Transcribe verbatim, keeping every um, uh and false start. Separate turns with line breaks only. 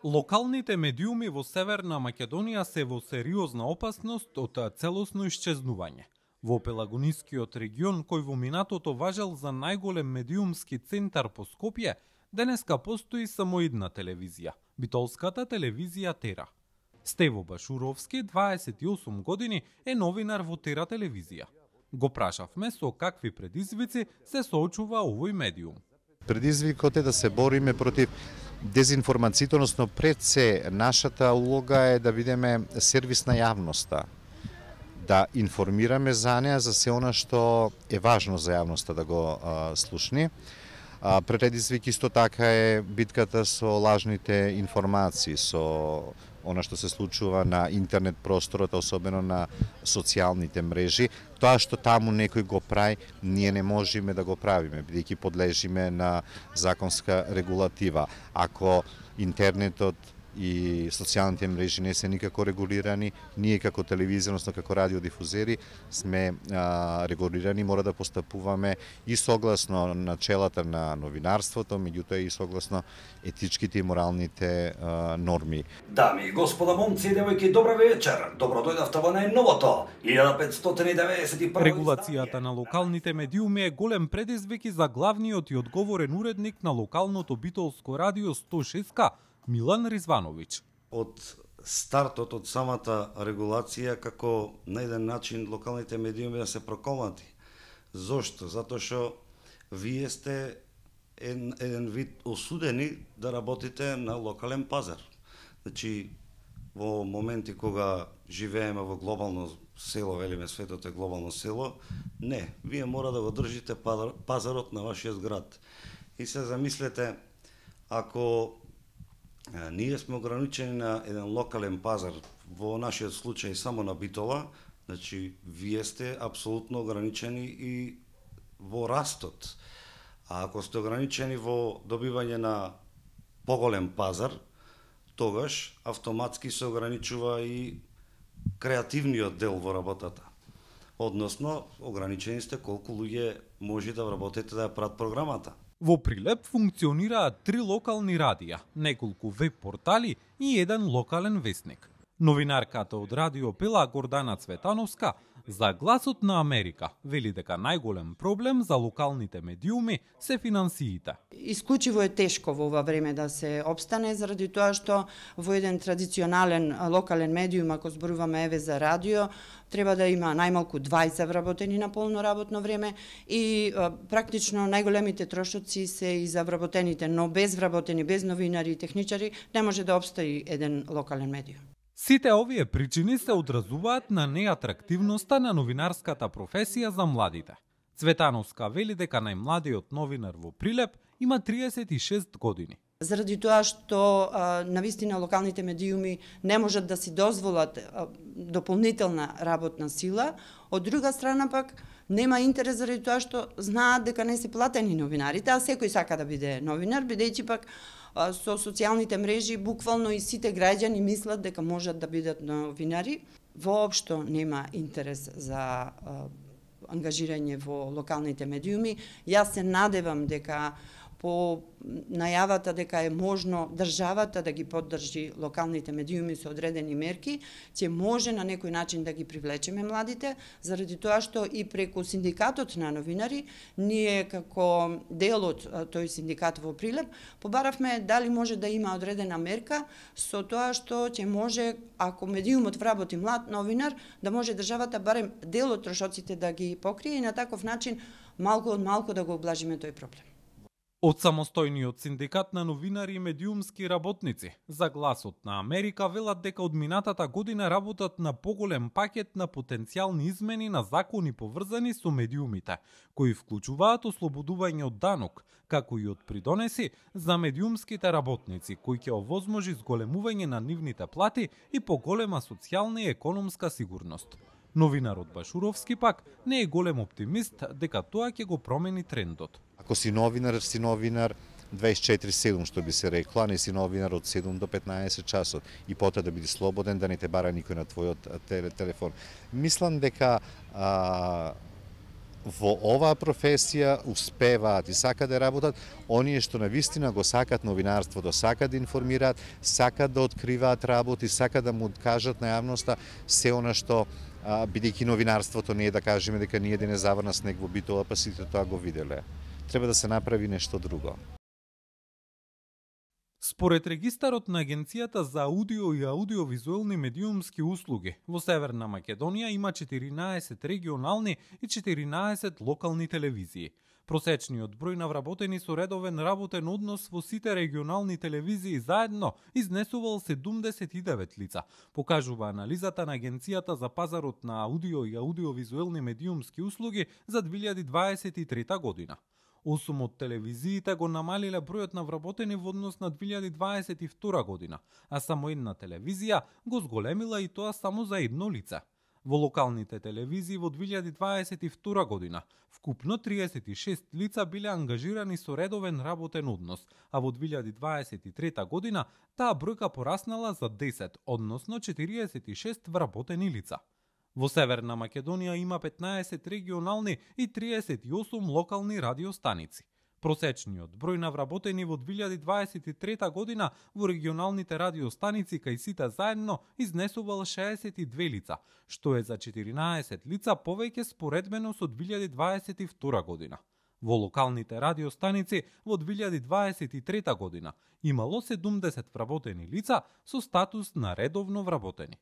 Локалните медиуми во Северна Македонија се во сериозна опасност од целосно исчезнување. Во Пелагонискиот регион, кој во минатото важел за најголем медиумски центар по Скопје, денеска постои само една телевизија – битолската телевизија Тера. Стево Башуровски, дваесет и осум години, е новинар во Тера телевизија. Го прашавме со какви предизвици се соочува овој медиум.
Предизвикот е да се бориме против дезинформацијата, односно пред се нашата улога е да бидеме сервис на јавноста, да информираме за неа за се она што е важно за јавноста да го а, слушни. А, предизвик исто така е битката со лажните информации, со она што се случува на интернет просторот, особено на социјалните мрежи. Тоа што таму некој го прави, ние не можеме да го правиме, бидејќи подлежиме на законска регулатива. Ако интернетот и социјалните мрежи не се никако регулирани, ние како телевизија, односно како радиодифузери сме а, регулирани, мора да постапуваме и согласно начелата на новинарството, меѓутоа и согласно етичките и моралните а, норми.
Дами и господа, момци и девојки, добра вечер. Добро дојдовте во најновото илјада петстотини деветдесет и прво
Регулацијата на локалните медиуми е голем предизвик и за главниот и одговорен уредник на локалното битолско радио сто и шест К, Милан Ризвановиќ.
Од стартот, од самата регулација, како на еден начин локалните медиуми да се проколнати. Зошто? Затоа што вие сте еден, еден вид осудени да работите на локален пазар. Значи, во моменти кога живееме во глобално село, велиме светот е глобално село, не, вие мора да го држите пазарот на вашиот град. И се замислете, ако ние сме ограничени на еден локален пазар, во нашиот случај само на Битола, значи вие сте апсолутно ограничени и во растот. А ако сте ограничени во добивање на поголем пазар, тогаш автоматски се ограничува и креативниот дел во работата. Односно, ограничени сте колку луѓе може да работите да ја прават програмата.
Во Прилеп функционираат три локални радија, неколку веб портали и еден локален весник. Новинарката од Радио Пела Гордана Цветановска за Гласот на Америка вели дека најголем проблем за локалните медиуми се финансиите.
Исклучиво е тешко во ова време да се опстане, заради тоа што во еден традиционален локален медиум, ако зборуваме еве за радио, треба да има најмалку дваесет вработени на полно работно време и а, практично најголемите трошоци се и за вработените, но без вработени, без новинари и техничари не може да опстои еден локален медиум.
Сите овие причини се одразуваат на неатрактивноста на новинарската професија за младите. Цветановска вели дека најмладиот новинар во Прилеп има триесет и шест години.
Заради тоа што а, навистина локалните медиуми не можат да си дозволат а, дополнителна работна сила, од друга страна пак нема интерес заради тоа што знаат дека не се платени новинарите, а секој сака да биде новинар, бидејќи пак а, со социјалните мрежи буквално и сите граѓани мислат дека можат да бидат новинари. Воопшто нема интерес за а, ангажирање во локалните медиуми. Јас се надевам дека по најавата дека е можно државата да ги поддржи локалните медиуми со одредени мерки, ќе може на некој начин да ги привлечеме младите, заради тоа што и преку синдикатот на новинари, ние како дел од тој синдикат во Прилеп, побаравме дали може да има одредена мерка со тоа што ќе може, ако медиумот вработи млад новинар, да може државата барем дел од трошоците да ги покрие и на таков начин малку од малку да го облажиме тој проблем.
Од самостојниот синдикат на новинари и медиумски работници за Гласот на Америка велат дека од минатата година работат на поголем пакет на потенцијални измени на закони поврзани со медиумите, кои вклучуваат ослободување од данок, како и од придонеси за медиумските работници, кои ќе овозможи зголемување на нивните плати и поголема социјална и економска сигурност. Новинарот Башуровски пак не е голем оптимист дека тоа ќе го промени трендот.
Ако си новинар, си новинар дваесет и четири седум, што би се рекло, а не си новинар од седум до петнаесет часот и потоа да биде слободен, да не те бара никој на твојот телефон. Мислам дека а, во оваа професија успеваат и сакаат да работат оние што навистина го сакат новинарството, сакаат да информираат, сакаат да откриваат работи, сакаат да му кажат на јавноста се она што бидејќи новинарството не е да кажеме дека ние дене заврна снег во Битола, па сите тоа го виделе. Треба да се направи нешто друго.
Според регистарот на Агенцијата за аудио и аудиовизуелни медиумски услуги, во Северна Македонија има четиринаесет регионални и четиринаесет локални телевизии. Просечниот број на вработени со редовен работен однос во сите регионални телевизии заедно изнесувал седумдесет и девет лица, покажува анализата на Агенцијата за пазарот на аудио и аудиовизуелни медиумски услуги за две илјади дваесет и трета година. Осум од телевизиите го намалиле бројот на вработени во однос на две илјади дваесет и втора година, а само една телевизија го зголемила и тоа само за едно лице. Во локалните телевизии во две илјади дваесет и втора година вкупно триесет и шест лица биле ангажирани со редовен работен однос, а во две илјади дваесет и трета година таа бројка пораснала за десет, односно четириесет и шест вработени лица. Во Северна Македонија има петнаесет регионални и триесет и осум локални радиостаници. Просечниот број на вработени во две илјади дваесет и трета година во регионалните радиостаници кај сите заедно изнесувал шеесет и две лица, што е за четиринаесет лица повеќе споредбено со две илјади дваесет и втора година. Во локалните радиостаници во две илјади дваесет и трета година имало седумдесет вработени лица со статус на редовно вработени.